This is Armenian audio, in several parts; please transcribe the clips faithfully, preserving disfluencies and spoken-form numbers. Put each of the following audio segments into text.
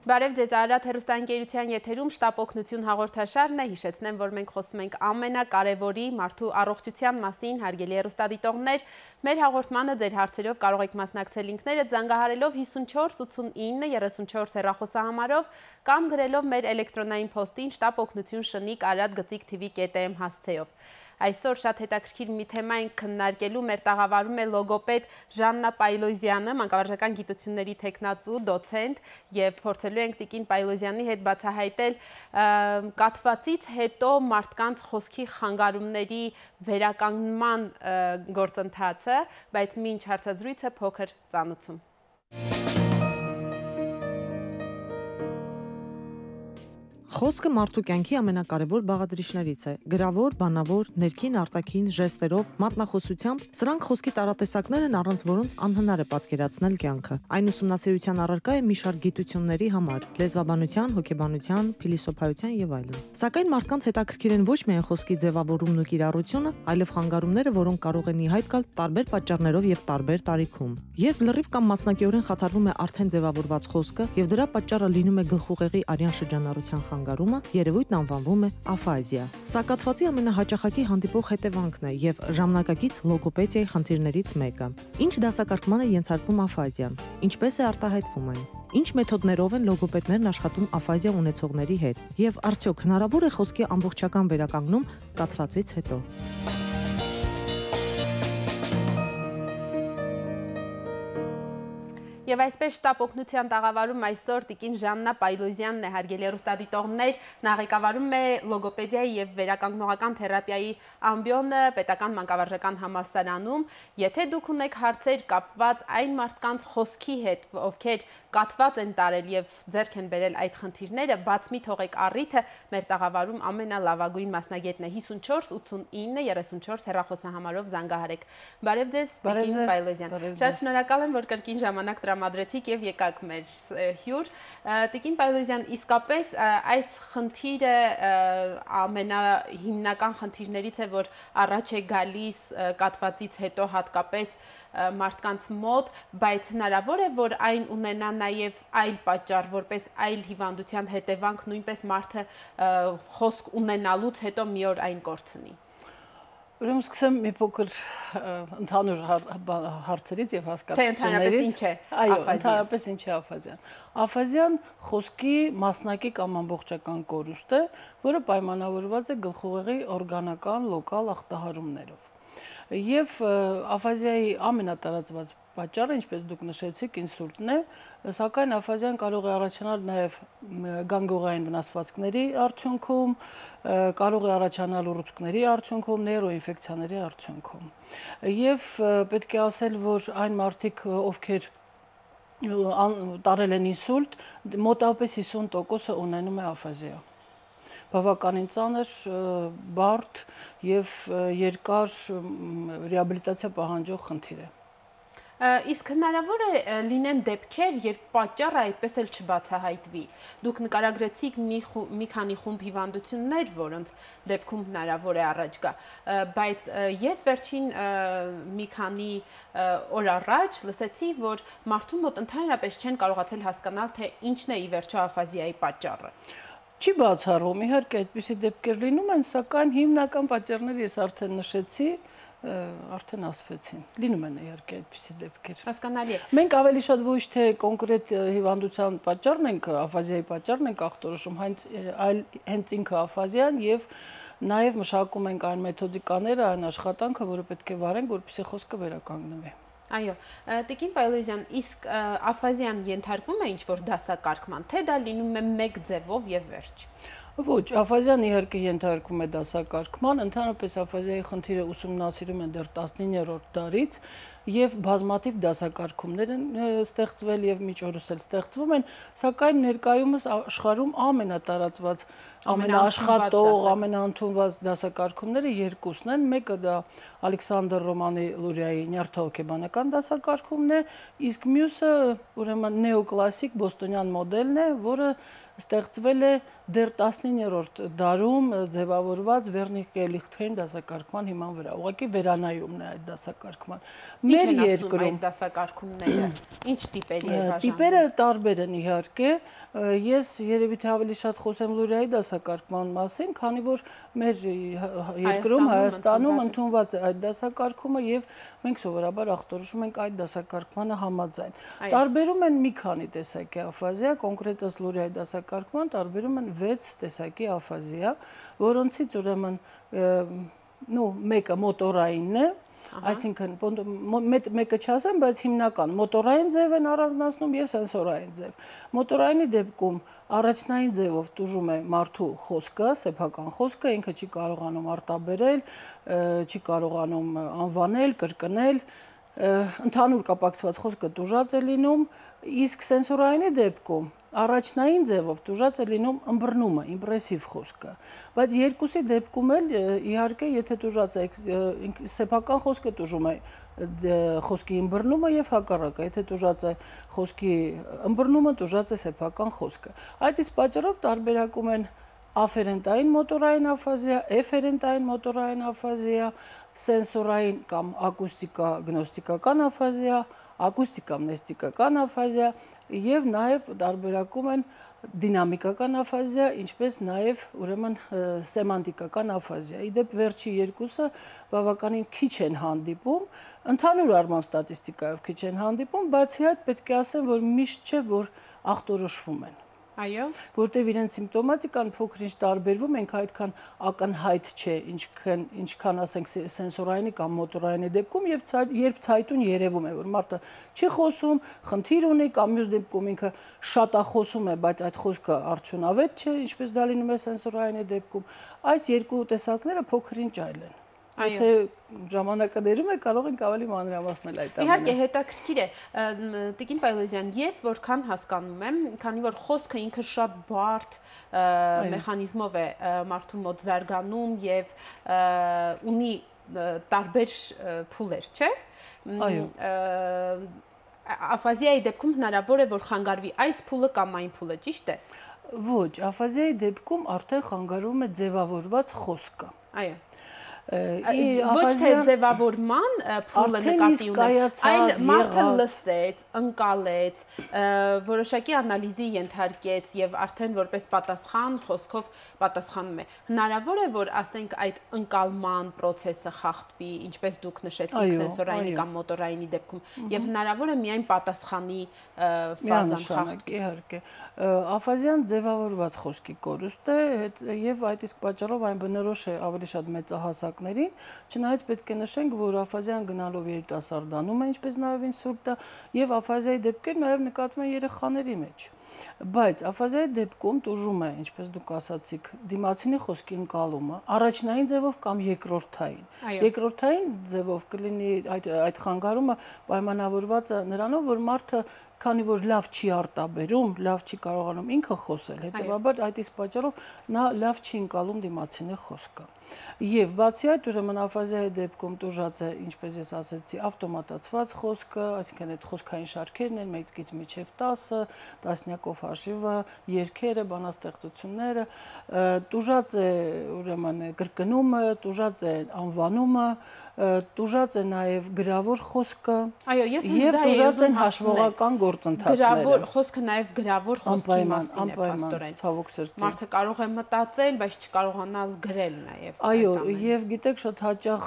Բարև ձեզ, Արարատ հեռուստաընկերության եթերում շտապ օգնություն հաղորդաշարն է, հիշեցնեմ, որ մենք խոսում ենք ամենակարևորի մարդու առողջության մասին, հարգելի հեռուստադիտողներ, մեր հաղորդմանը ձեր հարցերով կարող եք մասնակցել ինքներդ զանգահարելով հիսունչորս ութսունինը երեսունչորս հեռախոսահամարով կամ գրելով մեր էլեկտրոնային փոստին շտապ օգնություն շնիկ արարատ գծիկ թիվի կետ էմ հասցեով։ Այսօր շատ հետաքրքիր մի թեմա ենք քննարկելու, մեր տաղավարում է լոգոպեդ Ժաննա Պայլոզյանը, մանկավարժական գիտությունների թեկնածու, դոցենտ, եւ փորձելու ենք Տիկին Պայլոզյանի հետ բացահայտել կաթվածից հետո մարդկանց խոսքի խանգարումների վերականգնման գործընթացը, բայց մինչ հարցազրույցը փոքր ծանուցում։ Խոսքը մարդու կյանքի ամենակարևոր բաղադրիչներից է։ Գրավոր, բանավոր, ներքին, արտաքին, ժեստերով, մատնախոսությամբ, սրանք խոսքի տարատեսակներ են, առանց որոնց անհնար է պատկերացնել կյանքը։ Այն ուսումնասիրության առարկա է մի շարք գիտությունների համար՝ լեզվաբանության, հոգեբանության, փիլիսոփայության եւ այլն։ Սակայն մարդկանց հետաքրքիր են ոչ միայն խոսքի ձևավորումն ու կիրառությունը, այլև խանգարումները, որոնք կարող են ի հայտ գալ տարբեր պատճառներով եւ տարբեր տարիքում։ Երբ լրիվ կամ մասնակիորեն խաթարվում է արդեն ձևավորված խոսքը եւ դրա պատճառը լինում է գլխուղեղի արյան շրջանառության խանգարումը, երևույթն անվանվում է աֆազիա։ Սա կաթվածի ամենահաճախակի հանդիպող հետևանքն է եւ ժամանակակից լոգոպեդիայի խնդիրներից մեկը։ Ինչ դասակարգման է ենթարկվում աֆազիան, ինչպես է արտահայտվում այն, ինչ մեթոդներով են լոգոպեդներն աշխատում աֆազիա ունեցողների հետ եւ արդյոք հնարավոր է խոսքի ամբողջական վերականգնում կաթվածից հետո։ Եվ այսպես շտապ օգնության տաղավարում այսօր Տիկին Ժաննա Պայլոզյանն է, հարգելի հեռուստադիտողներ, նա ղեկավարում է լոգոպեդիայի եւ վերականգնողական թերապիայի ամբիոնը պետական մանկավարժական համալսարանում։ Եթե դուք ունեք հարցեր կապված այն մարդկանց խոսքի հետ, ովքեր կաթված են տարել եւ ձեռք են բերել այդ խնդիրները, բաց մի թողեք առիթը, մեր տաղավարում ամենալավագույն մասնագետն է հիսունչորս ութսունինը երեսունչորս հեռախոսահամարով զանգահարեք։ Բարև ձեզ, Տիկին Պայլոզյան։ Շատ շնորհակալ եմ, որ կրկին ժամանակ տրամադրեցիք եւ եկաք մեր հյուր։ Տիկին Պայլոզյան, իսկապես այս խնդիրը ամենահիմնական խնդիրներից է, որ առաջ է գալիս կաթվածից հետո հատկապես մարդկանց մոտ, բայց հնարավոր է, որ այն ունենա նաև այլ պատճառ, որպես այլ հիվանդության հետևանք, նույնպես մարդը խոսք ունենալուց հետո մի օր այն կորցնի։ Ուրեմն սկսեմ մի փոքր ընդհանուր հարցերից եւ հասկացություններից։ Այո, ընդհանրապես ինչ է աֆազիան։ Աֆազիան խոսքի մասնակի կամ ամբողջական կորուստ է, որը պայմանավորված է գլխուղեղի օրգանական լոկալ ախտահարումներով։ Եվ աֆազիայի ամենատարածված պատճառը, ինչպես դուք նշեցիք, ինսուլտն է, սակայն աֆազիան կարող է առաջանալ նաև գանգուղային վնասվածքների արդյունքում, կարող է առաջանալ ուռուցքների արդյունքում, նեյրոինֆեկցիաների արդյունքում։ Եվ պետք է ասել, որ այն մարդիկ, ովքեր տարել են ինսուլտ, մոտավորապես հիսուն տոկոսը ունենում է աֆազիա։ Բավականին ծանր, բարդ եւ երկար ռեաբիլիտացիա պահանջող խնդիր է։ Իսկ հնարավոր է լինեն դեպքեր, երբ պատճառը այդպես էլ չբացահայտվի։ Դուք նկարագրեցիք մի քանի խումբ հիվանդություններ, որոնց դեպքում հնարավոր է առաջ գա, բայց ես վերջին մի քանի օր առաջ լսեցի, որ մարդու մոտ ընդհանրապես չեն կարողացել հասկանալ, թե ինչն է ի վերջո աֆազիայի պատճառը։ Չի բացառվում, իհարկե այդպիսի դեպքեր լինում են, սակայն հիմնական պատճառները ես արդեն նշեցի, արդեն ասվեցին։ Լինում են իհարկե այդպիսի դեպքեր։ Հասկանալի է։ Մենք ավելի շատ ոչ թե կոնկրետ հիվանդության պատճառն ենք, աֆազիայի պատճառն ենք ախտորոշում, այլ հենց ինքը աֆազիան եւ նաեւ մշակում ենք այն մեթոդիկաները, այն աշխատանքը, որը պետք է վարենք, որպեսզի խոսքը վերականգնվի։ Այո, Տիկին Պայլոզյան, իսկ աֆազիան ենթարկվում է ինչ-որ դասակարգման, թե դա լինում է մեկ ձևով եւ վերջ։ Ոչ, աֆազիան իհարկե ենթարկվում է դասակարգման, ընդհանրապես աֆազիայի խնդիրը ուսումնասիրում են դեռ տասնիններորդ դարից եւ բազմաթիվ դասակարգումներ են ստեղծվել եւ միջորս էլ ստեղծվում են, սակայն ներկայումս աշխարհում ամենատարածված ամենաաշխատող, ամենաընդունված դասակարգումները երկուսն են, մեկը դա Ալեքսանդր Ռոմանի Լուրիայի նյարդահոգեբանական դասակարգումն է, իսկ մյուսը ուրեմն նեոկլասիկ բոստոնյան մոդելն է, որը ստեղծվել է դեռ տասնիններորդ դարում ձևավորված Վերնիկե Լիխտհեյմ դասակարգման հիման վրա։ Ուղղակի վերանայումն է այդ դասակարգման։ Մեր երկրում այդ դասակարգումները ինչ տիպերի է բաժանվում։ Տիպերը տարբեր են իհարկե։ Ես երևի թե ավելի շատ խոսեմ Լուրիայի դասակարգման մասին, քանի որ մեր երկրում Հայաստանում ընդունված է այդ դասակարգումը եւ մենք սովորաբար ախտորոշում ենք այդ դասակարգմանը համաձայն։ Տարբերում են մի քանի տեսակի աֆազիա, կոնկրետ ըստ Լուրիայի դասակարգման տարբերում են վեց տեսակի աֆազիա, որոնցից ուրեմն նո մեկը մոտորայինն է, այսինքն մեկը չասեմ, բայց հիմնական մոտորային ձև են առանձնացնում եւ սենսորային ձև։ Մոտորայինի դեպքում առաջնային ձևով տուժում է մարդու խոսքը, սեփական խոսքը, ինքը չի կարողանում արտաբերել, չի կարողանում անվանել, կրկնել, ընդհանուր կապակցված խոսքը տուժած է լինում, իսկ սենսորայինի դեպքում առաջնային ձևով տուժած է լինում ըմբռնումը, իմպրեսիվ խոսքը, բայց երկուսի դեպքում էլ իհարկե եթե տուժած է սեփական խոսքը տուժում է խոսքի ըմբռնումը եւ հակառակը, եթե տուժած է խոսքի ըմբռնումը տուժած է սեփական խոսքը։ Այդ իսկ պատճառով տարբերակում են աֆերենտային մոտորային աֆազիա, էֆերենտային մոտորային աֆազիա, սենսորային կամ ակուստիկա գնոստիկական աֆազիա, ակուստիկա-մնեստիկական աֆազիա եւ նաեւ տարբերակում են դինամիկական աֆազիա, ինչպես նաեւ ուրեմն սեմանտիկական աֆազիա։ Իդեպ վերջի երկուսը բավականին քիչ են հանդիպում, ընդհանուր առմամբ ստատիստիկայով քիչ են հանդիպում, բացի այդ պետք է ասեմ, որ միշտ չէ, որ ախտորոշվում են։ Այո, որտեղ իրենց սիմպտոմատիկան փոքր-ինչ տարբերվում, ենք այդքան ակնհայտ չէ, ինչքան ինչքան ասենք սենսորայինի կամ մոտորայինի դեպքում եւ երբ ցայտուն երևում է, որ մարդը չի խոսում, խնդիր ունի կամ մյուս դեպքում ինքը շատախոսում է, բայց այդ խոսքը արդյունավետ չէ, ինչպես դա լինում է սենսորայինի դեպքում, այս երկու տեսակները փոքր-ինչ այլ են։ Եթե ժամանակը դերում է, կարող ենք ավելի մանրամասնել այդ ամենը։ Իհարկե, հետաքրքիր է, Տիկին Պայլոզյան, ես որքան հասկանում եմ, քանի որ խոսքը ինքը շատ բարդ մեխանիզմով է մարդու մոտ զարգանում եւ ունի տարբեր փուլեր, չէ՞։ Այո։ Աֆազիայի դեպքում հնարավոր է, որ խանգարվի այս փուլը կամ այն փուլը, ճիշտ է։ Ոչ, աֆազիայի դեպքում արդեն խանգարվում է ձևավորված խոսքը։ Այո։ Ոչ թե ձևավորման փուլը նկատի ունեմ, այլ մարդը լսեց, ընկալեց, որոշակի անալիզի ենթարկեց եւ արդեն որպես պատասխան խոսքով պատասխանում է։ Հնարավոր է, որ ասենք այդ ընկալման process-ը խախտվի, ինչպես դուք նշեցիք սենսորայինի կամ մոտորայինի դեպքում, եւ հնարավոր է միայն պատասխանի ֆազան խախտվի։ Իհարկե, աֆազիան ձևավորված խոսքի կորուստ է եւ այդ իսկ պատճառով այն բնորոշ է ավելի շատ մեծահասակներին, չնայած պետք է նշենք, որ աֆազիան գնալով երիտասարդանում է, ինչպես նաեւ ինսուլտը, եւ աֆազիայի դեպքեր նաեւ նկատվում են երեխաների մեջ։ Բայց աֆազիայի դեպքում տուժում է, ինչպես դուք ասացիք, դիմացինի խոսքի ընկալումը, առաջնային ձևով կամ երկրորդային։ Երկրորդային ձևով կլինի այդ այդ խանգարումը պայմանավորված է նրանով, որ մարդը քանի որ լավ չի արտաբերում, լավ չի կարողանում ինքը խոսել, հետեւաբար այդ իսկ պատճառով նա լավ չի ընկալում դիմացինի խոսքը։ Եվ բացի այդ, ուրեմն աֆազիայի դեպքում տուժած է, ինչպես ես ասացի, ավտոմատացված խոսքը, այսինքն այդ խոսքային շարքերն են մեկից մինչև տասը, տասնյակով հաշիվը, երգերը, բանաստեղծությունները, տուժած է ուրեմն կրկնումը, տուժած է անվանումը, տուժած է նաև գրավոր խոսքը, եւ տուժած են հաշվողական գործընթացները։ Գրավոր խոսքը նաև գրավոր խոսքի մասին է, փաստորեն։ Ցավոք սրտի։ Մարդը կարող է մտածել, բայց չկարողանալ գրել նաև։ Այո, եւ գիտեք, շատ հաճախ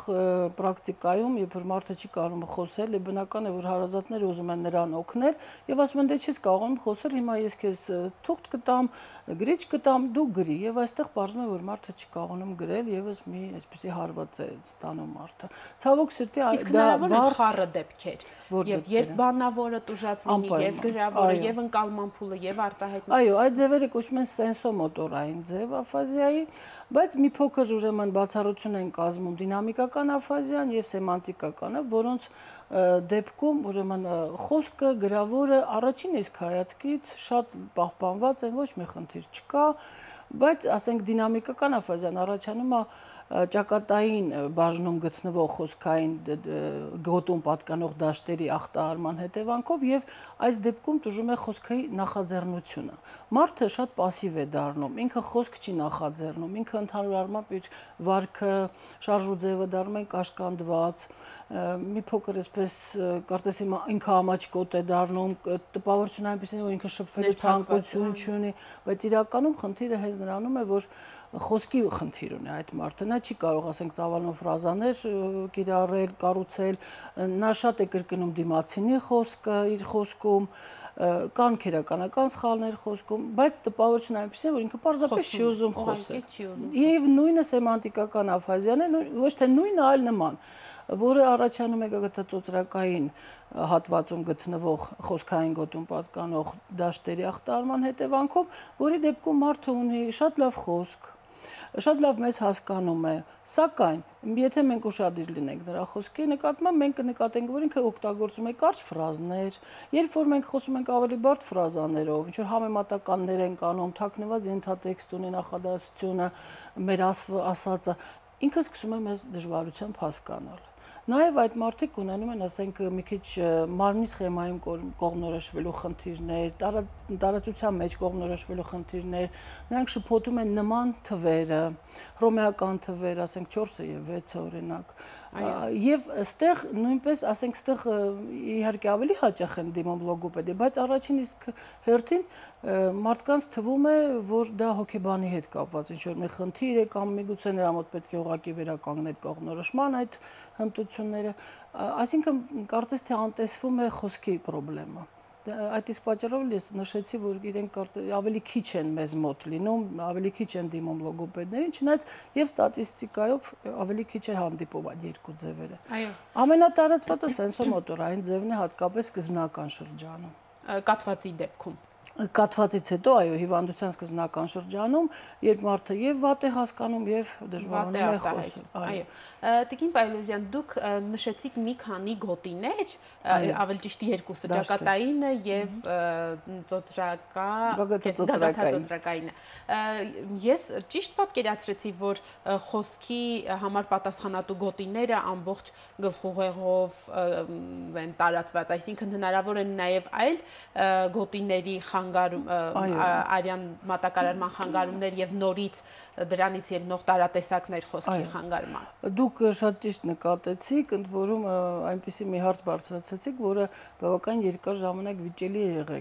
պրակտիկայում, երբ որ մարդը չի կարողանում խոսել, բնական է, որ հարազատները ուզում են նրան օգնել եւ ասում են, դե չես կարողանում խոսել, հիմա ես քեզ թուղթ կտամ, գրիչ կտամ, դու գրի, եւ այստեղ պարզվում է, որ մարդը չի կարողանում գրել, եւս մի այսպեսի հարված է ստանում մարդը։ Ցավոք սրտի իսկ հնարավոր է խառը դեպքեր, եւ երբ բանավորը տուժած լինի, եւ գրավորը, եւ ընկալման փուլը, եւ արտահայտումը։ Այո, այդ ձևերը կոչվում են սենսոմոտորային ձև աֆազիայի, բայց մի փոքր ուրեմն բացառություն են կազմում դինամիկական աֆազիան եւ սեմանտիկականը, որոնց դեպքում ուրեմն խոսքը, գրավորը առաջին իսկ հայացքից շատ պահպանված են, ոչ մի խնդիր չկա, բայց ասենք դինամիկական աֆազիան առաջանում է ճակատային բաժնում գտնվող խոսքային գոտուն պատկանող դաշտերի ախտահարման հետևանքով եւ այս դեպքում տուժում է խոսքի նախաձեռնությունը։ Մարդը շատ пассив է դառնում, ինքը խոսք չի նախաձեռնում, ինքը ընդհանուր առմամբ իր վարքը, շարժու ձևը դառնում են կաշկանդված, մի փոքր այսպես կարծես ինքը ամաչկոտ է դառնում, տպավորությունը այնպեսին որ ինքը շփվելու ցանկություն չունի, բայց իրականում խնդիրը հենց նրանում է, որ խոսքի խնդիր ունի այդ մարդը, նա չի կարող ասենք ծավալուն ֆրազաներ կիրառել, կառուցել, նա շատ է կրկնում դիմացինի խոսքը իր խոսքում, կան քերականական սխալներ խոսքում, բայց տպավորությունն այնպես է, որ ինքը պարզապես չի ուզում խոսել։ Եվ նույնը սեմանտիկական աֆազիան է, ոչ թե նույնը, այլ նման, որը առաջանում է գտածոծրակային հատվածում գտնվող խոսքային գոտուն պատկանող դաշտերի ախտահարման հետևանքով, որի դեպքում մարդը ունի շատ լավ խոսք, շատ լավ մեզ հասկանում է, սակայն եթե մենք ուշադիր լինենք նրա խոսքի նկատմամբ, մենք կնկատենք, որ ինքը օգտագործում է կարճ ֆրազներ, երբ որ մենք խոսում ենք ավելի բարդ ֆրազաներով, ինչ որ համեմատականներ են կանում, թաքնված ենթատեքստ ունի նախադասությունը, մեր ասածը, ինքը սկսում է մեզ դժվարությամբ հասկանալ։ Նաև այդ մարդիկ ունենում են, ասենք, մի քիչ մարմնի սխեմայում կողմնորոշվելու խնդիրներ, տարածության մեջ կողմնորոշվելու խնդիրներ, նրանք շփոթում են նման թվերը, հռոմեական թվեր, ասենք չորսը եւ վեցը օրինակ, եւ այստեղ նույնպես, ասենք, այստեղ իհարկե ավելի հաճախ են դիմում լոգոպեդի, բայց առաջին իսկ հերթին մարդկանց թվում է, որ դա հոգեբանի հետ կապված ինչ-որ մի խնդիր է կամ միգուցե նրա մոտ պետք է ուղղակի վերականգնել կողմնորոշման այդ հմտությունները, այսինքն կարծես թե անտեսվում է խոսքի խնդիրը։ Այդ իսկ պատճառով ես նշեցի, որ իրենք ավելի քիչ են մեզ մոտ լինում, ավելի քիչ են դիմում լոգոպեդներին, չնայած եւ ստատիստիկայով ավելի քիչ է հանդիպում այդ երկու ձևերը։ Այո։ Ամենատարածվածը սենսոմոտորային ձևն է, հատկապես սկզբնական շրջանում։ Կաթվածի դեպքում։ Կաթվածից հետո, այո, հիվանդության սկզբնական շրջանում, երբ մարդը եւ վատ է հասկանում եւ դժվարանում է խոսել։ Այո։ Տիկին Պայլոզյան, դուք նշեցիք մի քանի գոտիներ, ավելի ճիշտ երկուսը, ճակատայինը եւ ծոծրակայինը։ Ես ճիշտ պատկերացրեցի, որ խոսքի համար պատասխանատու գոտիները ամբողջ գլխուղեղով են տարածված, այսինքն հնարավոր են նաեւ այլ գոտիների արյան մատակարարման խանգարումներ եւ նորից դրանից ելնող տարատեսակներ խոսքի խանգարման։ Դուք շատ ճիշտ նկատեցիք, ընդ որում այնպիսի մի հարց բարձրացրեցիք, որը բավական երկար ժամանակ վիճելի է եղել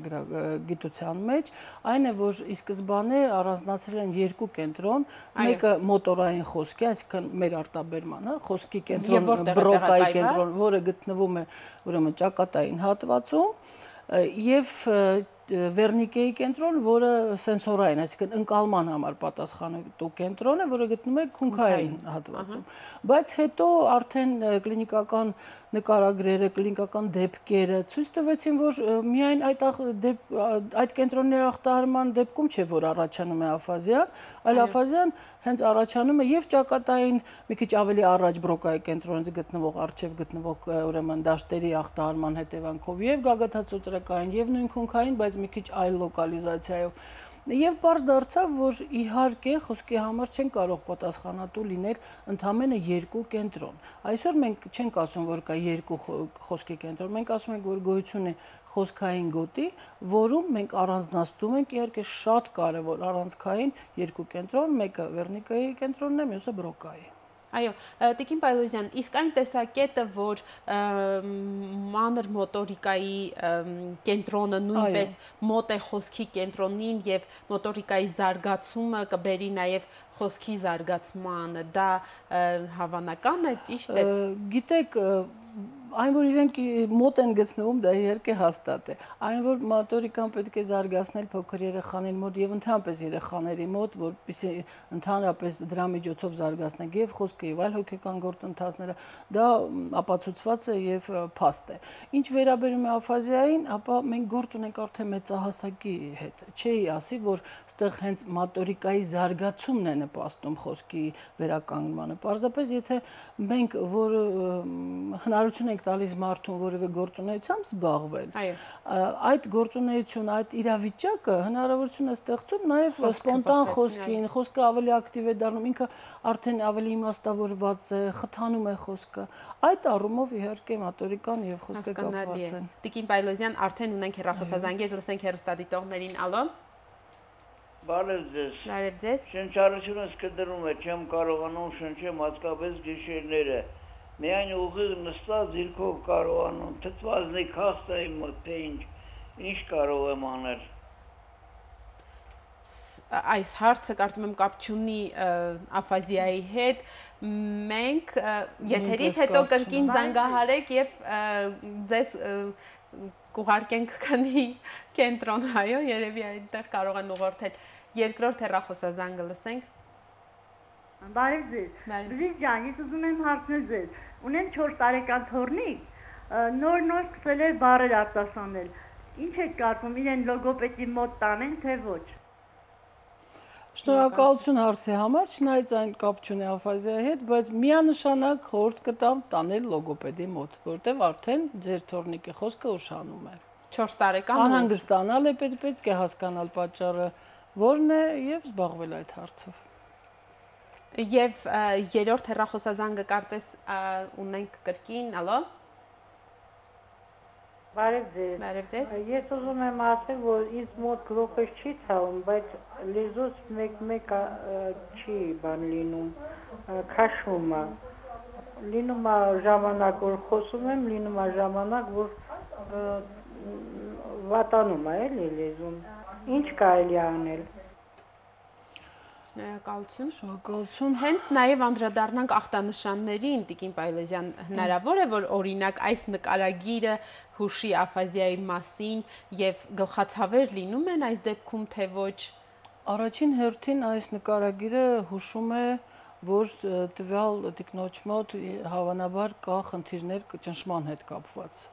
գիտության մեջ, այն է, որ ի սկզբանե առանձնացրել են երկու կենտրոն, մեկը մոտորային խոսքի, այսինքն մեր արտաբերման, հա, խոսքի կենտրոն, բրոկայի կենտրոն, որը գտնվում է ուրեմն ճակատային հատվածում, եւ Վերնիկեի կենտրոն, որը սենսորային, այսինքն ընկալման համար պատասխանատու կենտրոն է, որը գտնվում է քունքային հատվածում։ Բայց հետո արդեն կլինիկական նկարագրերը, կլինիկական դեպքերը ցույց տվեցին, որ միայն այդ այդ կենտրոնների ախտահարման դեպքում չէ, որ առաջանում է աֆազիան, այլ աֆազիան հենց առաջանում է եւ ճակատային մի քիչ ավելի առաջ բրոկայի կենտրոնից գտնվող արչեւ գտնվող ուրեմն դաշտերի ախտահարման հետևանքով եւ գագաթածոծրակային եւ նույն քունքային, բայց մի քիչ այլ լոկալիզացիայով։ Եվ պարզ դարձավ, որ իհարկե խոսքի համար չեն կարող պատասխանատու լինել ընդամենը երկու կենտրոն։ Այսօր մենք չենք ասում, որ կա երկու խոսքի կենտրոն, մենք ասում ենք, որ գոյություն է խոսքային գոտի, որում մենք առանձնացնում ենք իհարկե շատ կարևոր առանցքային երկու կենտրոն, մեկը Վերնիկայի կենտրոնն է, մյուսը բրոկայի։ Այո, Տիկին Պայլոզյան, իսկ այն տեսակետը, որ մանր մոտորիկայի կենտրոնը նույնպես մոտ է խոսքի կենտրոնին եւ մոտորիկայի զարգացումը կբերի նաեւ խոսքի զարգացմանը, դա հավանական է, ճիշտ է։ Գիտեք, այն որ իրենք մոտ են գտնվում, դա իհարկե հաստատ է։ Այն որ մոտորիկան պետք է զարգացնել փոքր երեխաների մոտ եւ ընդհանրապես երեխաների մոտ, որպեսզի ընդհանրապես դրա միջոցով զարգացնենք եւ խոսքը եւ այլ հոգեկան գործընթացները, դա ապացուցված է եւ փաստ է։ Ինչ վերաբերում է աֆազիային, ապա մենք գործ ունենք արդեն մեծահասակի հետ։ Չէի ասի, որ այստեղ հենց մոտորիկայի զարգացումն է նպաստում խոսքի վերականգնմանը։ Պարզապես եթե մենք որ հնարավորություն ենք տալիս մարդուն որևէ գործունեությամբ զբաղվել, այդ գործունեությունը, այդ իրավիճակը հնարավորություն է ստեղծում նաև սպոնտան խոսքին, խոսքը ավելի ակտիվ է դառնում, ինքը արդեն ավելի իմաստավորված է, խթանում է խոսքը։ Այդ առումով իհարկե մատորիկան եւ խոսքը կապված են։ Տիկին Պայլոզյան, արդեն ունենք հեռախոսազանգեր, լսենք հեռուստադիտողներին, ալո։ Բարև ձեզ։ Բարև ձեզ։ Շնչառությունս կդրում է, չեմ կարողանում շնչեմ հատկապես գիշերները։ Միայն ուղիղ նստած ձիրքով կարողանում, թթվածնի քաստայի մոտ, թե ինչ, ինչ կարող եմ անել։ Այս հարցը կարծում եմ կապ չունի աֆազիայի հետ, մենք եթերից հետո կրկին զանգահարեք եւ ձեզ կուղարկենք քանի կենտրոն, այո, երևի այնտեղ կարող են ուղղորդել։ Երկրորդ հեռախոսազանգը լսենք։ Բարև ձեզ։ Բժիշկ ջան, ես ուզում եմ հարցնել ձեզ։ Ունեմ չորս տարեկան թոռնիկ, նոր-նոր սկսել է բառեր արտասանել։ Ինչ է կարծում, իրեն լոգոպեդի մոտ տանեն, թե ոչ։ Շնորհակալություն հարցի համար, չնայած այն կապ չունի աֆազիայի հետ, բայց միանշանակ խորհուրդ կտամ տանել լոգոպեդի մոտ, որտեղ արդեն ձեր թոռնիկի խոսքը ուշանում է։ չորս տարեկան անհանգստանալ է, պետք է հասկանալ պատճառը որն է եւ զբաղվել այդ հարցով։ Եվ երրորդ հեռախոսազանգը կարծես ունենք կրկին, ալո։ Բարև ձեզ։ Բարև ձեզ։ Ես ուզում եմ ասել, որ ինձ մոտ գլուխս չի ցավում, բայց լեզուս մեկ-մեկ չի բան լինում, քաշվում է։ Լինում է ժամանակ, որ խոսում եմ, լինում է ժամանակ, որ վատանում է, էլի լեզուն։ Ինչ կարելի է անել։ Շնորհակալություն։ Շնորհակալություն։ Հենց նաև անդրադառնանք ախտանշաններին, Տիկին Պայլոզյան, հնարավոր է, որ օրինակ այս նկարագիրը հուշի աֆազիայի մասին եւ գլխացավեր լինում են այս դեպքում, թե ոչ։ Առաջին հերթին այս նկարագիրը հուշում է, որ տվյալ տիկնոջ մոտ հավանաբար կա խնդիրներ ճնշման հետ կապված։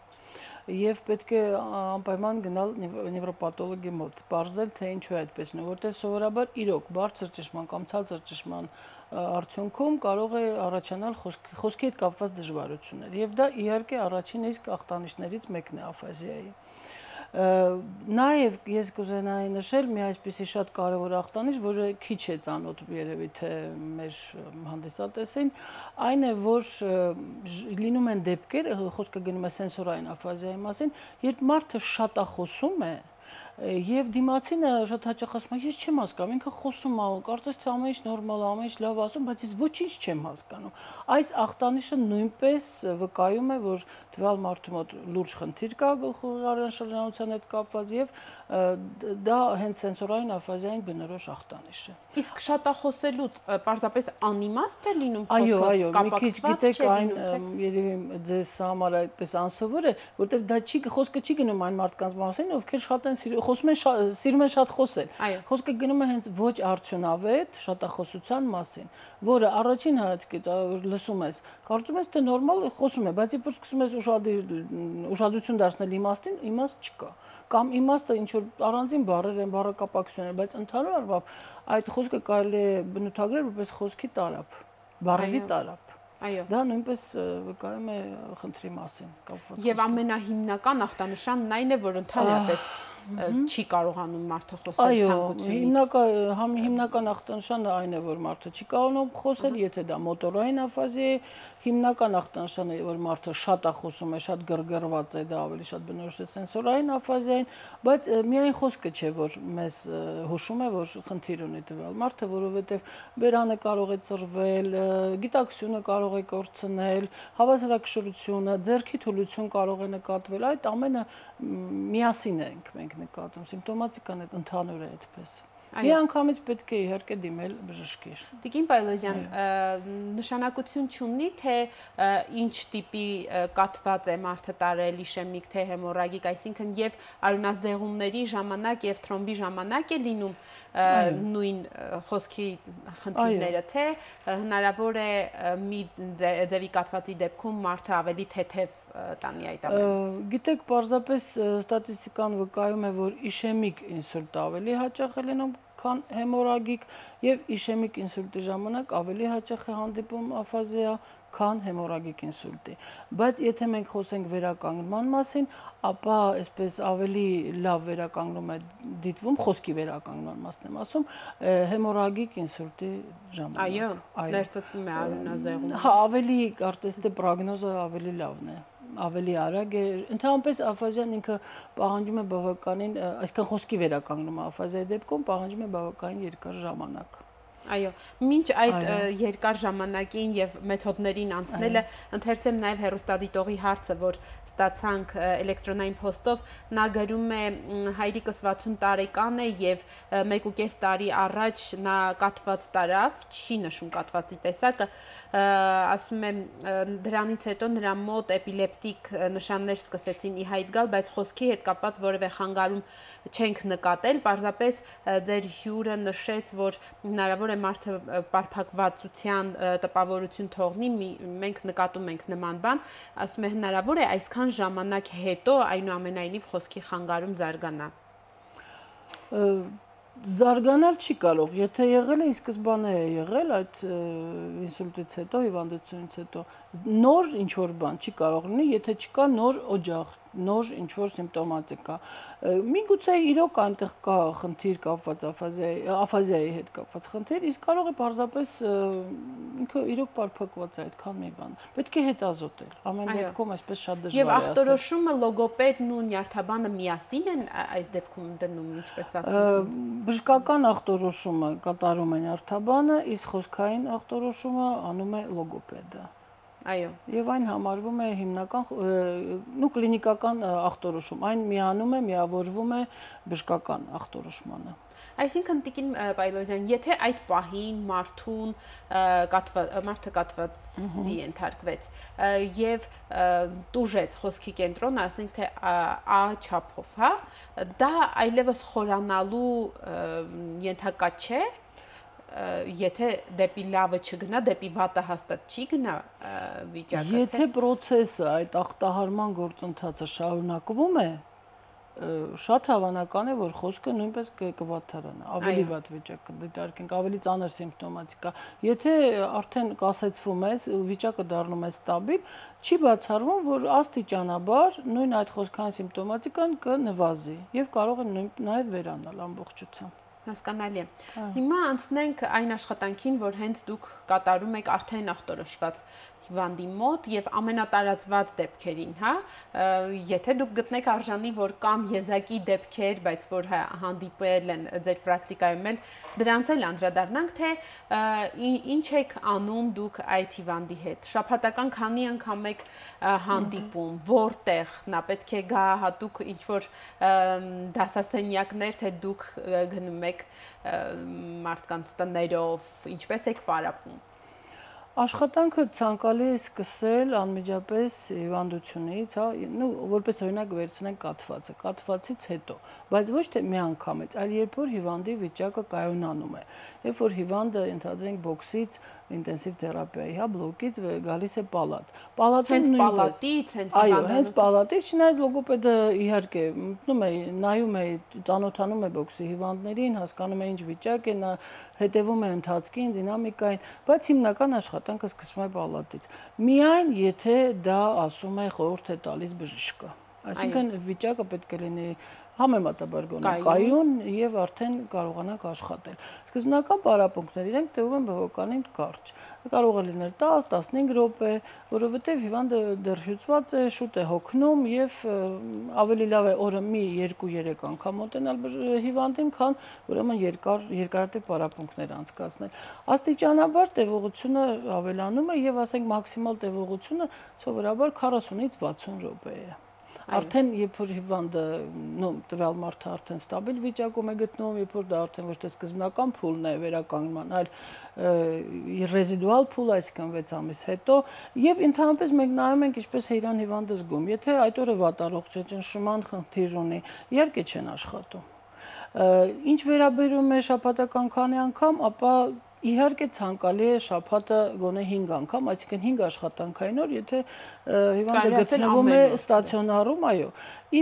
Եվ պետք է անպայման գնալ նևրոպաթոլոգի մոտ, պարզել, թե ինչու է այդպես, որտեղ սովորաբար իրոք բարձր ճնշման կամ ցածր ճնշման արդյունքում կարող է առաջանալ խոսքի հետ կապված դժվարություններ։ Եվ դա իհարկե առաջին իսկ ախտանիշներից մեկն է աֆազիայի։ Նաև ես կուզենայի նշել մի այսպիսի շատ կարևոր ախտանիշ, որը քիչ է ծանոթ երևի թե մեր հանդիսատեսին, այն է, որ լինում են դեպքեր, խոսքը գնում է սենսորային աֆազիայի մասին, երբ մարդը շատախոսում է եւ դիմացինը շատ հաճախ ասում է, ես չեմ հասկանում, ինքը խոսում է, կարծես թե ամեն ինչ նորմալ է, ամեն ինչ լավ ասում, բայց ես ոչինչ չեմ հասկանում։ Այս ախտանիշը նույնպես վկայում է, որ տվյալ մարդու մոտ լուրջ խնդիր կա գլխուղեղի առանձնահատկության հետ կապված եւ դա հենց սենսորային աֆազիային բնորոշ ախտանիշ է։ Իսկ շատախոսելուց պարզապես անիմաստ է լինում խոսքը։ Այո, այո, մի քիչ գիտեք այն երևի ձեզ համար այդպես անսովոր է, որտեղ դա չի խոսքը չի գնում այն մարդկանց մասին, ովքեր շատ են խոսում են, սիրում են շատ խոսել։ Խոսքը գնում է հենց ոչ արդյունավետ շատախոսության մասին, որը առաջին հայացքից լսում ես, կարծում ես թե նորմալ խոսում է, բայց երբ սկսում ես ուշադրություն դարձնել իմաստին, իմաստ չկա։ Կամ իմաստը ինչ որ առանձին բառեր են, բառակապակցություն են, բայց ընդհանուր առմամբ այդ խոսքը կարելի է բնութագրել որպես խոսքի տարափ, բառերի տարափ։ Այո։ Դա նույնպես վկայում է խնդրի մասին կապված։ Եվ ամենահիմնական ախտանշանն այն է, որ ընդհանրապես չի կարողանում մարդը խոսել ցանկությունից։ Այո, հիմնական ախտանշանը այն է, որ մարդը չի կարողանում խոսել, եթե դա մոտորային աֆազիա է, հիմնական ախտանշանը, որ մարդը շատ է խոսում է, շատ գրգռված է, դա ավելի շատ բնորոշ է սենսորային աֆազիային, բայց միայն խոսքը չէ, որ մեզ հուշում է, որ խնդիր ունի տվյալ մարդը, որովհետև բերանը կարող է ծռվել, գիտակցությունը կարող է կորցնել, հավասարակշռությունը, ձեռքի թուլություն կարող է նկատվել, այդ ամենը միասին ենք մենք նկատում, սիմպտոմատիկան այդ ընդհանուր է այդպես։ Մի անգամից պետք է իհարկե դիմել բժշկի։ Տիկին Պայլոզյան, նշանակություն չունի, թե ինչ տիպի կաթված է մարդը տարել, իշեմիկ, թե հեմորագիկ, այսինքն եւ արյունազեղումների ժամանակ եւ թրոմբի ժամանակ է լինում նույն խոսքի խնդիրները, թե հնարավոր է մի ձևի կաթվածի դեպքում մարդը ավելի թեթև տանի այդ ամենը։ Գիտեք, պարզապես ստատիստիկան վկայում է, որ իշեմիկ ինսուլտ ավելի հաճախ է լինում քան հեմորագիկ եւ իշեմիկ ինսուլտի ժամանակ ավելի հաճախ է հանդիպում աֆազիա, քան հեմորագիկ ինսուլտի։ Բայց եթե մենք խոսենք վերականգնման մասին, ապա այսպես ավելի լավ վերականգնում է դիտվում, խոսքի վերականգնման մասն եմ ասում, հեմորագիկ ինսուլտի ժամանակ։ Այո, ներծծվում է արյունազեղում։ Հա, ավելի կարծես թե պրոգնոզը ավելի լավն է, ավելի արագ է։ Ընդհանրապես աֆազիան ինքը պահանջում է բավականին, այսքան խոսքի վերականգնումը աֆազիայի դեպքում պահանջում է բավականին երկար ժամանակ։ Այո, մինչ այդ երկար ժամանակին եւ մեթոդներին անցնելը ընթերցեմ նաեւ հեռուստադիտողի հարցը, որ ստացանք էլեկտրոնային փոստով, նա գրում է հայրիկս վաթսուն տարեկան է եւ մեկ ու կես տարի առաջ նա կաթված տարավ, չի նշում կաթվածի տեսակը, ասում է դրանից հետո նրա մոտ էպիլեպտիկ նշաններ սկսեցին ի հայտ գալ, բայց խոսքի հետ կապված որևէ խանգարում չենք նկատել, պարզապես ձեր հյուրը նշեց, որ հնարավոր մարդը պարփակվածության տպավորություն թողնի, մենք նկատում ենք նման բան, ասում է հնարավոր է այսքան ժամանակ հետո այնուամենայնիվ խոսքի խանգարում զարգանա։ Զարգանալ չի կարող, եթե եղել է, ի սկզբանե է եղել այդ ինսուլտից հետո, հիվանդությունից հետո, նոր ինչ-որ բան չի կարող լինի, եթե չկա նոր օջախ, նոր ինչ-որ սիմպտոմատիկա։ Միգուցե իրոք այնտեղ կա խնդիր կապված աֆազիայի հետ կապված խնդիր, իսկ կարող է պարզապես ինքը իրոք պարփակված է այդքան մի բան։ Պետք է հետազոտել, ամեն դեպքում այսպես շատ դժվար է ասել։ Եվ ախտորոշումը լոգոպեդն ու նյարդաբանը միասին են այս դեպքում դնում, ինչպես ասում։ Բժշկական ախտորոշումը կատարում է նյարդաբանը, իսկ խոսքային ախտորոշումը անում է լոգոպեդը։ Այո։ Եվ այն համարվում է հիմնական, նու կլինիկական ախտորոշում, այն միանում է, միավորվում է բժշկական ախտորոշմանը։ Այսինքն Տիկին Պայլոզյան, եթե այդ պահին մարդուն մարդը կաթվածի ենթարկվեց եւ տուժեց խոսքի կենտրոնը, ասենք թե A չափով, հա, դա այլևս խորանալու ենթակա չէ, եթե դեպի լավը չգնա, դեպի վատը հաստատ չի գնա վիճակը։ Եթե process-ը, այդ ախտահարման գործընթացը շարունակվում է, շատ հավանական է, որ խոսքը նույնպես կվատթարանա, ավելի վատ վիճակ կդիտարկենք, ավելի ծանր սիմպտոմատիկա։ Եթե արդեն կասեցվում է, վիճակը դառնում է ստաբիլ, չի բացառվում, որ աստիճանաբար նույն այդ խոսքային սիմպտոմատիկան կնվազի եւ կարող է նաեւ վերանալ ամբողջությամբ։ Հասկանալի է։ Հիմա անցնենք այն աշխատանքին, որ հենց դուք կատարում եք արդեն ախտորոշված հիվանդի մոտ եւ ամենատարածված դեպքերին, հա, եթե դուք գտնեք արժանի, որ կան եզակի դեպքեր, բայց որ հանդիպել են ձեր պրակտիկայում էլ, դրանց էլ անդրադառնանք, թե ինչ եք անում դուք այդ հիվանդի հետ։ Շաբաթական քանի անգամ եք հանդիպում, որտեղ նա պետք է գա հատուկ ինչ որ դասասենյակներ, թե դուք գնում եք մարդկանց տներով, ինչպես եք պարապում։ Աշխատանքը ցանկալի է սկսել անմիջապես հիվանդությունից, հա, նու որպես օրինակ վերցնենք կաթվածը, կաթվածից հետո, բայց ոչ թե մի անգամից, այլ երբ որ հիվանդի վիճակը կայունանում է, երբ որ հիվանդը ընդհանրենք բոքսից, ինտենսիվ թերապիայի, հա, բլոկից գալիս է պալատ։ Հենց պալատից, հենց այո, հենց պալատից, չնայած լոգոպեդը իհարկե մտնում է, նայում է, ծանոթանում է բոքսի հիվանդներին, հասկանում է ինչ վիճակ է, նա հետևում է ընթացքին, դինամիկային, բայց հիմնական աշխատանքը սկսվում է պալատից։ Միայն եթե դա ասում է խորհուրդ է տալիս բժիշկը։ Այսինքն վիճակը պետք է լինի համեմատաբար գոնե կայուն եւ արդեն կարողանանք աշխատել։ Սկզբնական պարապմունքները իրենք տևում են բավականին կարճ։ Կարող է լինել տասը տասնհինգ րոպե, որովհետեւ հիվանդը դեռ հյուծված է, շուտ է հոգնում եւ ավելի լավ է օրը մի երկու երեք անգամ մոտենալ հիվանդին, քան ուրեմն երկար երկարատև պարապմունքներ անցկացնել։ Աստիճանաբար տևողությունը ավելանում է եւ ասենք մաքսիմալ տևողությունը սովորաբար քառասունից վաթսուն րոպե է։ Արդեն երբ որ հիվանդը, նո, տվյալ մարդը արդեն ստաբիլ վիճակում է գտնվում, երբ որ դա արդեն ոչ թե սկզբնական փուլն է վերականգնման, այլ ռեզիդուալ փուլ, այսինքն վեց ամիս հետո, եւ ընդհանրապես մենք նայում ենք ինչպես է իրան հիվանդը զգում։ Եթե այդ օրը վատառողջ է, ճնշման խնդիր ունի, իհարկե չեն աշխատում։ Ինչ վերաբերում է շաբաթական քանի անգամ, ապա իհարկե ցանկալի է շաբաթը գոնե հինգ անգամ, այսինքն հինգ աշխատանքային օր, եթե հիվանդը գտնվում է ստացիոնարում, այո։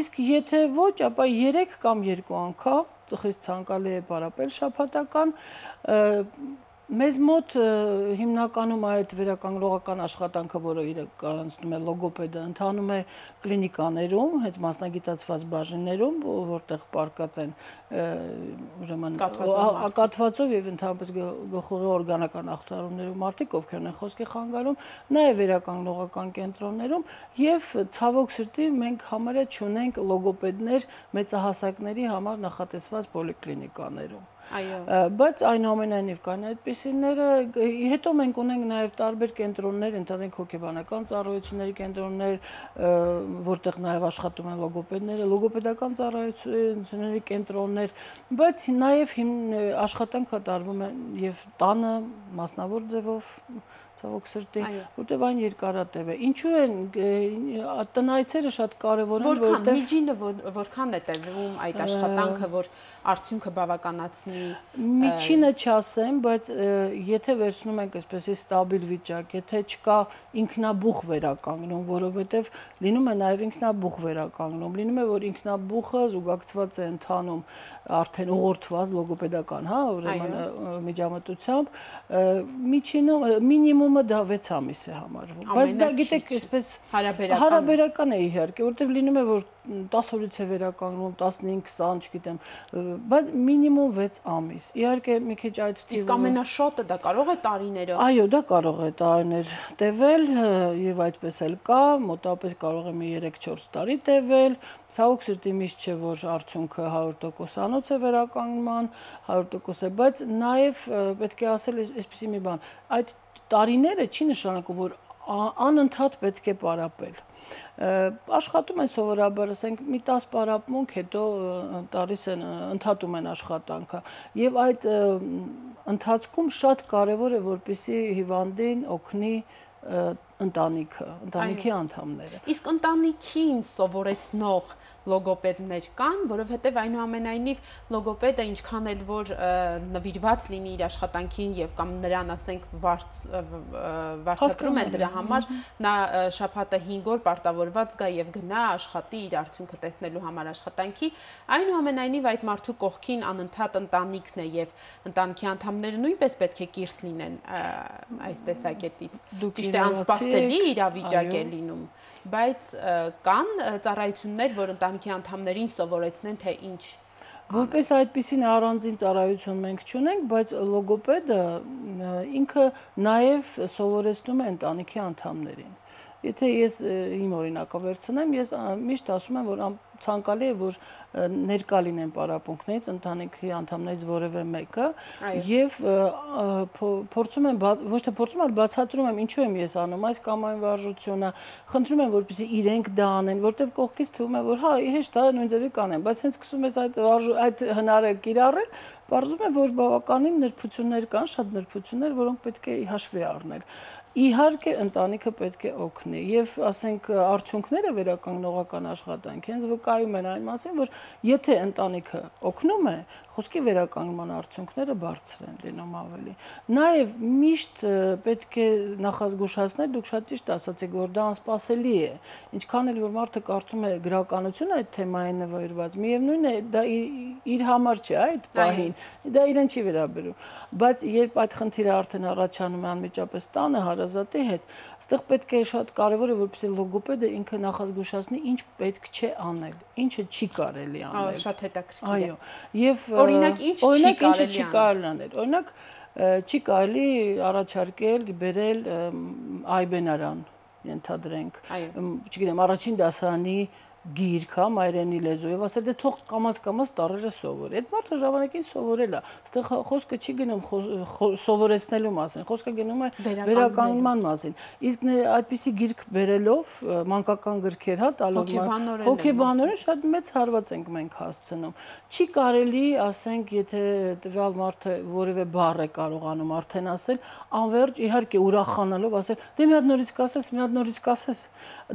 Իսկ եթե ոչ, ապա երեք կամ երկու անգամ, խիստ ցանկալի է պարապել շաբաթական, մեզ մոտ հիմնականում այդ վերականգնողական աշխատանքը, որը իրականացնում է լոգոպեդը, ընթանում է կլինիկաներում, հենց մասնագիտացված բաժիններում, որտեղ պարկած են ուրեմն կաթվածով եւ ընդհանրապես գլխուղի օրգանական ախտարումներում մարդիկ, ովքեր են խոսքի խանգարում, նաեւ վերականգնողական կենտրոններում եւ ցավոք սրտի մենք համարյա չունենք լոգոպեդներ մեծահասակների համար նախատեսված պոլիկլինիկաներում։ Բայց այնուամենայնիվ կան այդպիսիները, հետո մենք ունենք նաև տարբեր կենտրոններ, ընդհանրենք հոգեբանական ծառայությունների կենտրոններ, որտեղ նաև աշխատում են լոգոպեդները, լոգոպեդական ծառայությունների կենտրոններ, բայց նաև աշխատանքը տարվում է եւ տանը մասնավոր ձևով ցավոք սրտի, որտեղ այն երկարատև է։ Ինչու են տնայցերը շատ կարևոր են, որտեղ միջինը որքան է տևում այդ աշխատանքը, որ արդյունքը բավականացնի։ Միջինը չասեմ, բայց եթե վերցնում ենք այսպեսի ստաբիլ վիճակ, եթե չկա ինքնաբուխ վերականգնում, որովհետև լինում է նաև ինքնաբուխ վերականգնում, լինում է, որ ինքնաբուխը զուգակցված է ընթանում արդեն ուղղորդված լոգոպեդական, հա, ուրեմն միջամտությամբ, միջինը մինիմումը դա վեց ամիս է համարվում, բայց դա գիտեք, այսպես հարաբերական է իհարկե, որտեղ լինում է, որ տասը օրից է վերականգնում, տասնհինգ, քսան, չգիտեմ, բայց մինիմում վեց ամիս։ Իհարկե մի քիչ այդ թիվը։ Իսկ ամենաշատը դա կարող է տարիներով։ Այո, դա կարող է տարիներ տևել եւ այդպես էլ կա, մոտավորապես կարող է մի երեք-չորս տարի տևել։ Ցավոք սրտի միշտ չէ, որ արդյունքը հարյուր տոկոսանոց է վերականգնման, հարյուր տոկոս է, բայց նաեւ պետք է ասել այսպեսի մի բան, այդ տարիները չի նշանակում, որ անընդհատ պետք է պարապել։ Աշխատում են սովորաբար, ասենք, մի տասը պարապմունք, հետո տալիս են, ընդհատում են աշխատանքը։ Եվ այդ ընթացքում շատ կարևոր է, որպեսզի հիվանդին օգնի ընտանիքը, ընտանիքի անդամները։ Իսկ ընտանիքին սովորեցնող լոգոպեդներ կան, որովհետև այնուամենայնիվ լոգոպեդը ինչքան էլ որ նվիրված լինի իր աշխատանքին եւ կամ նրան ասենք վարձատրում են դրա համար, նա շաբաթը հինգ օր պարտավորված գա եւ գնա աշխատի իր արդյունքը տեսնելու համար աշխատանքի, այնուամենայնիվ այդ մարդու կողքին անընդհատ ընտանիքն է եւ ընտանիքի անդամները նույնպես պետք է կիրթ լինեն այս տեսակետից։ Ճիշտ է, անսպասելի իրավիճակ է լինում, բայց կան ծառայություններ, որ ընտանիքի անդամներին սովորեցնեն, թե ինչ։ Որպես այդպիսին առանձին ծառայություն մենք չունենք, բայց լոգոպեդը ինքը նաև սովորեցնում է ընտանիքի անդամներին։ Եթե ես իմ օրինակը վերցնեմ, ես միշտ ասում եմ, որ ցանկալի է, որ ներկա լինեն պարապմունքներից, ընտանիքի անդամներից որևէ մեկը եւ փորձում եմ, ոչ թե փորձում, այլ բացատրում եմ, ինչու եմ ես անում այս կամ այն վարժությունը, խնդրում եմ, որպեսզի իրենք դա անեն, որտեվ կողքից թվում է, որ հա, հեշտ է նույն ձևի կանեն, բայց հենց սկսում ես այդ այդ հնարը կիրառել, բարձում է, որ բավականին նրբություններ կան, շատ նրբություններ, որոնք պետք է հաշվի առնել։ Իհարկե ընտանիքը պետք է օգնի եւ ասենք արդյունքները վերականգնողական աշխատանքի հենց վկայում են այն մասին, որ եթե ընտանիքը օգնում է, խոսքի վերականգնման արդյունքները բարձր են լինում ավելի։ Նաեւ միշտ պետք է նախազգուշացնել, դուք շատ ճիշտ ասացիք, որ դա անսպասելի է։ Ինչքան էլ որ մարդը կարդում է գրականություն այդ թեմային նվիրված, միևնույն է դա իր համար չէ, այդ պահին, դա իրեն չի վերաբերում։ Բայց երբ այդ խնդիրը արդեն առաջանում է անմիջապես տանը հարազատի հետ, այստեղ պետք է շատ կարևոր է, որպեսզի լոգոպեդը ինքը նախազգուշացնի, ինչ պետք չէ անել, ինչը չի կարելի անել։ Շատ հետաքրքիր է։ Այո, եւ օրինակ ինչ չի կարելի անել։ Օրինակ չի կարելի առաջարկել, բերել այբենարան, ենթադրենք, չգիտեմ, առաջին դասարանի գիրք, հա, մայրենի լեզուով, ասել դե թող կամաց-կամաց տառերը սովորի։ Այդ մարդը ժամանակին սովորել է։ Այստեղ խոսքը չի գնում սովորեցնելու մասին, խոսքը գնում է վերականգնման մասին։ Իսկ այդպիսի գիրք բերելով, մանկական գրքեր, հա, տալով հոգեբանորեն շատ մեծ հարված ենք մենք հասցնում։ Չի կարելի, ասենք, եթե տվյալ մարդը որևէ բառ է կարողանում արդեն ասել, անվերջ իհարկե ուրախանալով ասել, դե մի հատ նորից կասես, մի հատ նորից կասես։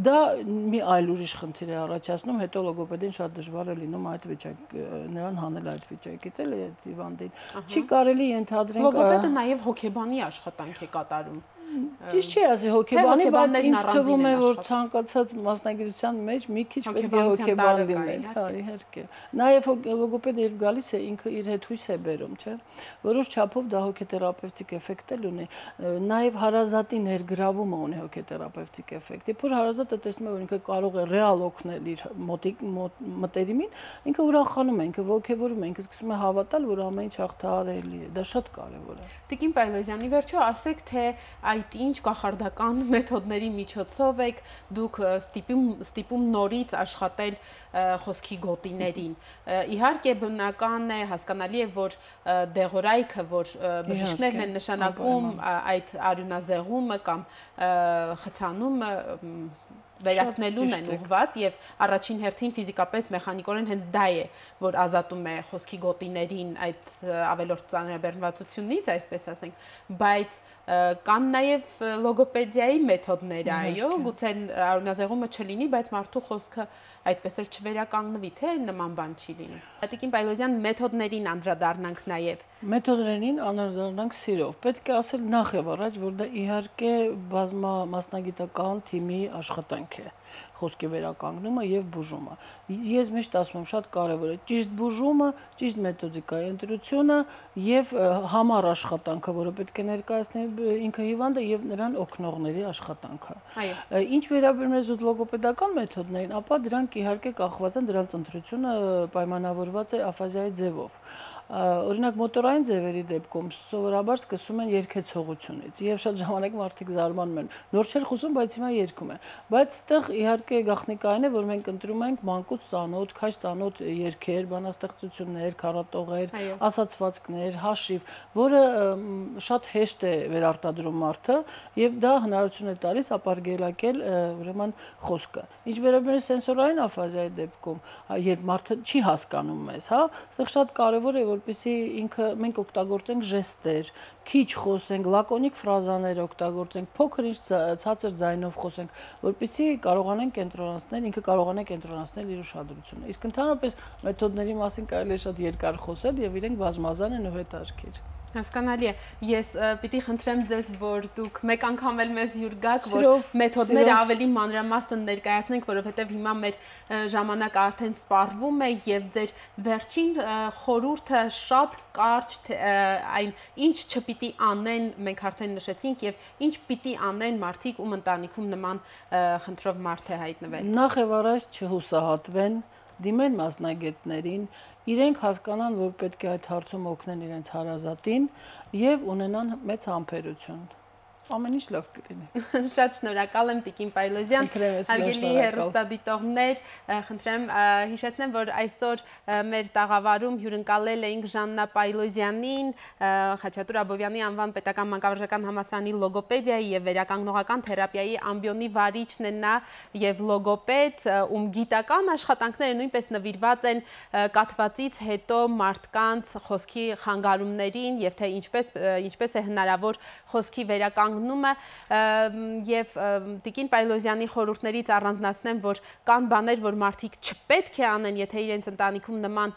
Դա մի այլ ուրիշ խնդիր է առաջացնում, հետո լոգոպեդին շատ դժվար է լինում այդ վիճակ նրան հանել այդ վիճակից էլի այդ հիվանդին։ Չի կարելի ենթադրենք լոգոպեդը նաև հոգեբանի աշխատանք է կատարում։ Ճիշտ չի ասի հոգեբանի, բայց ինձ թվում է, որ ցանկացած մասնագիտության մեջ մի քիչ պետք է հոգեբան լինել, հա, իհարկե։ Նաև լոգոպեդը երբ գալիս է, ինքը իր հետ հույս է բերում, չէ՞։ Որոշ չափով դա հոգեթերապևտիկ էֆեկտ էլ ունի։ Նաև հարազատի ներգրավումը ունի հոգեթերապևտիկ էֆեկտ։ Երբ որ հարազատը տեսնում է, որ ինքը կարող է ռեալ օգնել իր մոտիկ մտերիմին, ինքը ուրախանում է, ինքը ոգևորում է, ինքը սկսում է հավատալ, որ ամեն ինչ հաղթահարելի է։ Դա շատ կարևոր է։ Տիկին Պայլոզյանի, վերջո ասեք, թե այդ ինչ կախարդական մեթոդների միջոցով եք դուք ստիպում ստիպում նորից աշխատել խոսքի գոտիներին։ Իհարկե բնական է, հասկանալի է, որ դեղորայքը, որ բժիշկներն են նշանակում այդ արյունազեղումը կամ խցանումը վերացնելուն են ուղղված եւ առաջին հերթին ֆիզիկապես մեխանիկորեն հենց դա է, որ ազատում է խոսքի գոտիներին այդ ավելորդ ծանրաբեռնվածությունից, այսպես ասենք, բայց կան նաեւ լոգոպեդիայի մեթոդներ, այո, գուցե արյունազեղումը չլինի, բայց մարդու խոսքը այդպես էլ չվերականգնվի, թե նման բան չի լինի։ Տիկին Պայլոզյան, մեթոդներին անդրադառնանք նաեւ։ Մեթոդներին անդրադառնանք սիրով։ Պետք է ասել նախ եւ առաջ, որ դա իհարկե բազմա մասնագիտական թիմի աշխատանք է, խոսքի վերականգնումը եւ բուժումը։ Ես միշտ ասում եմ, շատ կարեւոր է ճիշտ բուժումը, ճիշտ մեթոդիկայի ընտրությունը եւ համառ աշխատանքը, որը պետք է ներկայացնի ինքը հիվանդը եւ նրան օգնողների աշխատանքը։ Ինչ վերաբերում է զուտ լոգոպեդական մեթոդներին, ապա դրանք իհարկե կախված են, դրանց ընտրությունը պայմանավորված է աֆազիայի ձևով։ Օրինակ մոտորային ձևերի դեպքում սովորաբար սկսում են երգեցողությունից եւ շատ ժամանակ մարդիկ զարմանում են նոր չէր խոսում, բայց հիմա երգում է, բայց այդտեղ իհարկե գաղտնիքային է, որ մենք ընտրում ենք մանկուց ծանոթ, քաջ ծանոթ երգեր, բանաստեղծություններ, քառատողեր, ասացվածքներ, հաշիվ, որը շատ հեշտ է վերարտադրում մարդը եւ դա հնարավորություն է տալիս ապարգելակել ուրեմն խոսքը։ Ինչ վերաբերում է սենսորային աֆազիայի դեպքում, երբ մարդը չի հասկանում մեզ, հա, այստեղ շատ կարեւոր է, որպեսզի ինքը մենք օգտագործենք ժեստեր, քիչ խոսենք, լակոնիկ ֆրազաներ օգտագործենք, փոքր ինչ ցածր ձայնով խոսենք, որպեսզի կարողանանք կենտրոնացնել, ինքը կարողանա կենտրոնացնել իր ուշադրությունը։ Իսկ ընդհանրապես մեթոդների մասին կարելի է շատ երկար խոսել եւ իրենք բազմազան են ու հետաքրքիր։ Հասկանալի է։ Ես պիտի խնդրեմ ձեզ, որ դուք մեկ անգամ էլ մեզ հյուր գաք, որ մեթոդները ավելի մանրամասն ներկայացնենք, որովհետև հիմա մեր ժամանակը արդեն սպառվում է եւ ձեր վերջին խորհուրդը շատ կարճ այն ինչ չպիտի անեն, մենք արդեն նշեցինք եւ ինչ պիտի անեն մարդիկ, ում ընտանիքում նման խնդրով մարդ է հայտնվել։ Նախ եւ առաջ չհուսահատվեն, դիմեն մասնագետներին, իրենք հասկանան, որ պետք է այդ հարցում օգնեն իրենց հարազատին եւ ունենան մեծ համբերություն։ Ամեն ինչ լավ կլինի։ Շատ շնորհակալ եմ Տիկին Պայլոզյան, հարգելի հեռուստադիտողներ, խնդրեմ հիշեցնեմ, որ այսօր մեր տաղավարում հյուրընկալել էինք Ժաննա Պայլոզյանին, Խաչատուր Աբովյանի անվան պետական մանկավարժական համալսարանի լոգոպեդիայի եւ վերականգնողական թերապիայի ամբիոնի վարիչն է նա եւ լոգոպեդ, ում գիտական աշխատանքները նույնպես նվիրված են կաթվածից հետո մարդկանց խոսքի խանգարումներին եւ թե ինչպես ինչպես է հնարավոր խոսքի վերականգնել եւ Տիկին Պայլոզյանի խորհուրդներից առանձնացնեմ, որ կան բաներ, որ մարդիկ չպետք է անեն, եթե իրենց ընտանիքում նման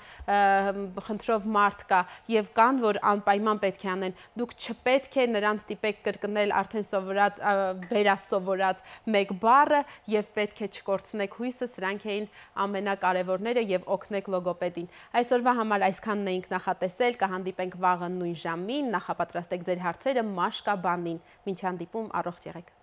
խնդրով մարդ կա, եւ կան, որ անպայման պետք է անեն։ Դուք չպետք է նրանց ստիպեք կրկնել արդեն սովորած վերասովորած մեկ բառը եւ պետք է չկորցնեք հույսը, սրանք էին ամենակարևորները եւ օգնեք լոգոպեդին։ Այսօրվա համար այսքանն էինք նախատեսել, կհանդիպենք վաղը նույն ժամին, նախապատրաստեք ձեր հարցերը Մաշկա բանին։ Մինչ հանդիպում, առողջ եղեք։